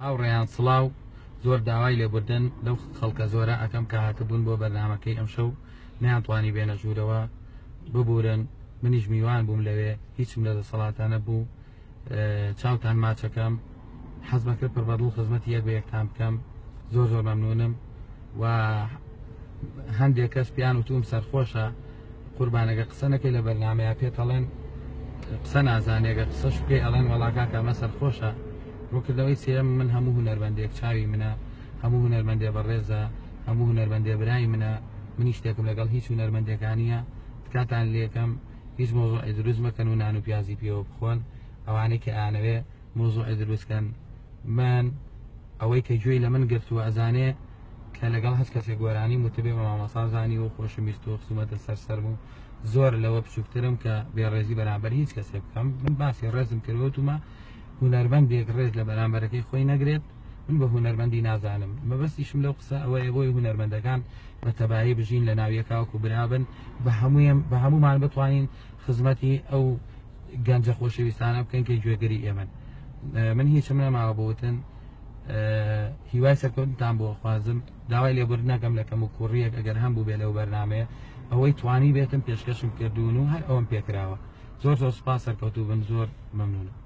هاوڕێیان سڵاو، زۆر داوای لێبوردن لەو خەڵکە زۆرە ئەکەم کە هاتبوون بۆ بەرنامەکەی ئەمشەو نەیانتوانی بێنە ژوورەوە، ببورن منیش میوان بووم لەوێ هیچم لە دەسەڵاتە نەبوو. چاوتان ماچەکەم، حەزمە کرد پڕ بەدڵ خزمەتی یەک بە یەکتان بکەم. زۆر زۆر مەمنونم. و هەندێک کەس پیان وتوم سەرخۆشە، قوربانەگە قسە نەکەی لە بەرنامەیە پێت ئەڵێن قسە نازانێگە قسەش بکەی ئەڵێن وەڵا کاکە ئەمە سەرخۆشە. ڕوونکردنەوەی سێیەم، من هەموو هونەرمەندێک چاوی منە، هەموو هونەرمەندێ بەڕێزە، هەموو هونەرمەندێ برای منە، منیش شتێکم لەگەڵ هیچ هونەرمەندێکا نییە، تکاتان لێکەم هیچ مۆزوعی دروست مەکەن و نان و پیازی پێوە بخۆن. ئەوانەی کە ئەیانەوێ مۆزوعی دروست کەن، من ئەوەی کە گوێی لە من گرتووە ئەزانێ کە لەگەڵ هەچ کەسێک گۆرانیم وتبێ بە مامۆستا زانی و خۆشم ویستووە خسومەتە سەر سەرم و زۆر لەوە بچووکترم کە بێڕێزی بەرامبەر هیچ کەسێک بکەم. من باسی ڕێزم کردووە، وتومە هونەرمەندێک ڕێز لە بەرامبەرەکەی خۆی نەگرێت من بە هونەرمەندی نازانم. مەبەستیشم لەو قسە ئەوەیە بۆی هونەرمەندەکان بە تەبایی بژین لە ناو یەکاوەکو برابن، بە هەموویم بە هەمومان بتوانین خزمەتی ئەو گەنجە خۆشەویستانە بکەین کە گوێگری ئێمەن. من هیچم نەماوە بۆ وتن، هیوای سەرکەوتنتان بۆ خوازم. داوای لێبوردن نەکەم لە کەم و کوڕیەک ئەگەر هەم بوو بێ لەو بەرنامەیە، ئەوەی توانی بێتم پێشکەشم کردوون و هەر ئەوەم پێکراوە. زۆر زۆر سوپاس، سەرکەوتوو بن، زۆر مەمنونم.